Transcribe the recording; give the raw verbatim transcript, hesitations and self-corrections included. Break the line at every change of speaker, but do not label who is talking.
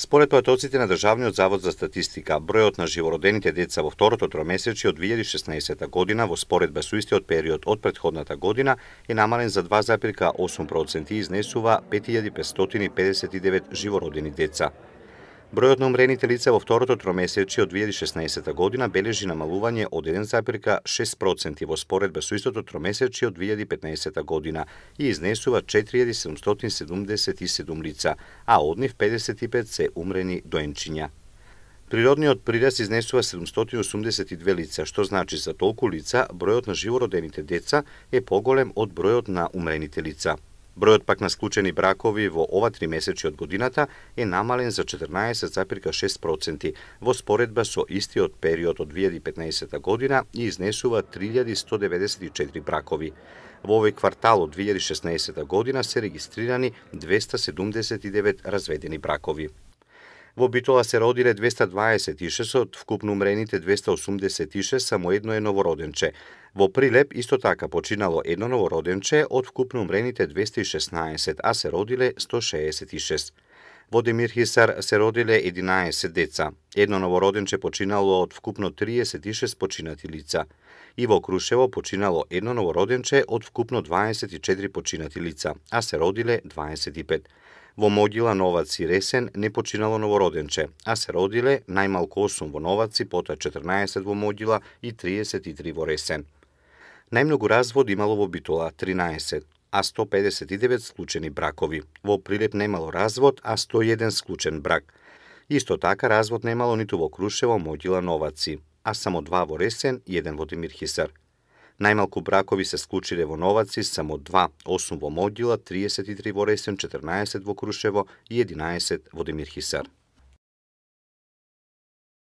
Според поdatocите на Државниот завод за статистика, бројот на живородените деца во второто тромесечје од две илјади и шеснаесетта година во споредба со истиот период од претходната година е намален за два зарез осум проценти и изнесува пет илјади петстотини педесет и девет живородени деца. Бројот на умрените лица во второто тромесечје од две илјади и шеснаесетта година бележи намалување од еден зарез шест проценти во споредба со истото тромесечје од две илјади и петнаесетта година и изнесува четири илјади седумстотини седумдесет и седум лица, а од нив педесет и пет се умрени доенчиња. Природниот прираст изнесува седумстотини осумдесет и две лица, што значи за толку лица бројот на живородените деца е поголем од бројот на умрените лица. Бројот пак на склучени бракови во ова тримесечје од годината е намален за четрнаесет зарез шест проценти во споредба со истиот период од две илјади и петнаесетта година и изнесува три илјади сто деветдесет и четири бракови. Во овој квартал од две илјади и шеснаесетта година се регистрирани двеста седумдесет и девет разведени бракови. Во Битола се родиле двеста дваесет и шест, од вкупно умрените двеста осумдесет и шест, само едно е новороденче. Во Прилеп исто така починало едно новороденче од вкупно умрените двеста и шеснаесет, а се родиле сто шеесет и шест. Во Демирхисар се родиле единаесет деца. Едно новороденче починало од вкупно триесет и шест починати лица. И во Крушево починало едно новороденче од вкупно дваесет и четири починати лица, а се родиле дваесет и пет. Во Могила, Новац и Ресен не починало новороденче, а се родиле најмалку осум во Новаци, потоа четрнаесет во Могила и триесет и три во Ресен. Најмногу развод имало во Битола тринаесет, а сто педесет и девет склучени бракови. Во Прилеп немало развод, а сто и еден склучен брак. Исто така развод немало ниту во Крушево, Могила, Новаци, а само два во Ресен и еден во Демирхисар. Најмалку бракови се склучиле во Новаци, само два, осум во Могила, триесет и три во Ресен, четрнаесет во Крушево и единаесет во Демирхисар.